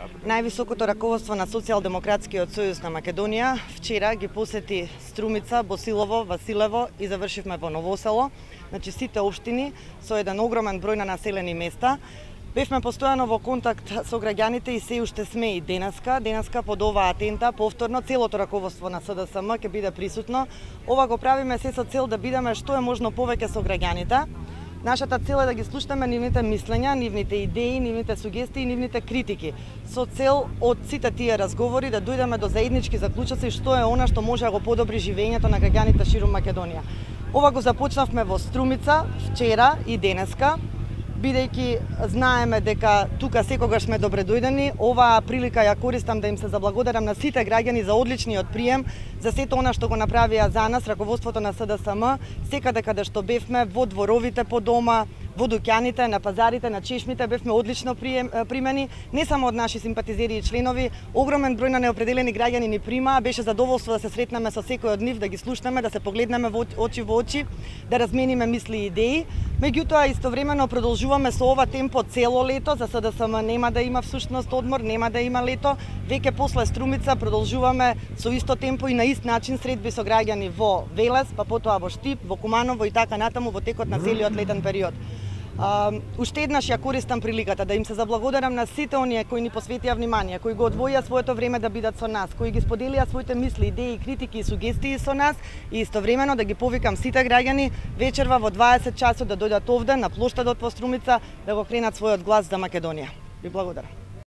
Највисокото раководство на Социјалдемократскиот сојуз на Македонија вчера ги посети Струмица, Босилово, Василево и завршивме во Новосело, значи сите општини со еден огромен број на населени места. Бевме постојано во контакт со граѓаните и се уште сме и денеска. Денеска под оваа тента повторно целото раководство на СДСМ ќе биде присутно. Ова го правиме се со цел да бидеме што е можно повеќе со граѓаните. Нашата цел е да ги слушнеме нивните мислења, нивните идеи, нивните сугестии, нивните критики, со цел од сите тие разговори да дојдеме до заеднички заклучоци што е она што може да го подобри живењето на граѓаните ширум Македонија. Ова го започнавме во Струмица вчера и денеска, бидејќи знаеме дека тука секогаш сме добредојдени. Оваа прилика ја користам да им се заблагодарам на сите граѓани за одличниот прием, за сето она што го направија за нас раководството на СДСМ, секаде каде што бевме, во дворовите по дома, во дуќаните, на пазарите, на чешмите, бевме одлично примени, не само од наши симпатизери и членови, огромен број на неопределени граѓани ни прима, беше задоволство да се сретнеме со секој од нив, да ги слушнеме, да се погледнеме во очи, да размениме мисли и идеи. Меѓутоа, истовремено продолжуваме со ова темпо цело лето, за СДСМ нема да има всушност одмор, нема да има лето, веќе после Струмица продолжуваме со исто темпо и на ист начин средби со граѓани во Велес, па потоа во Штип, во Куманово и така натаму во текот на целиот летен период. Уште еднаш ја користам приликата да им се заблагодарам на сите оние кои ни посветија внимание, кои го одвоија своето време да бидат со нас, кои ги споделија своите мисли, идеи, критики и сугестии со нас и истовремено да ги повикам сите граѓани вечерва во 20 часот да дојдат овде на плоштадот во Струмица да го кренат својот глас за Македонија. Ви благодарам.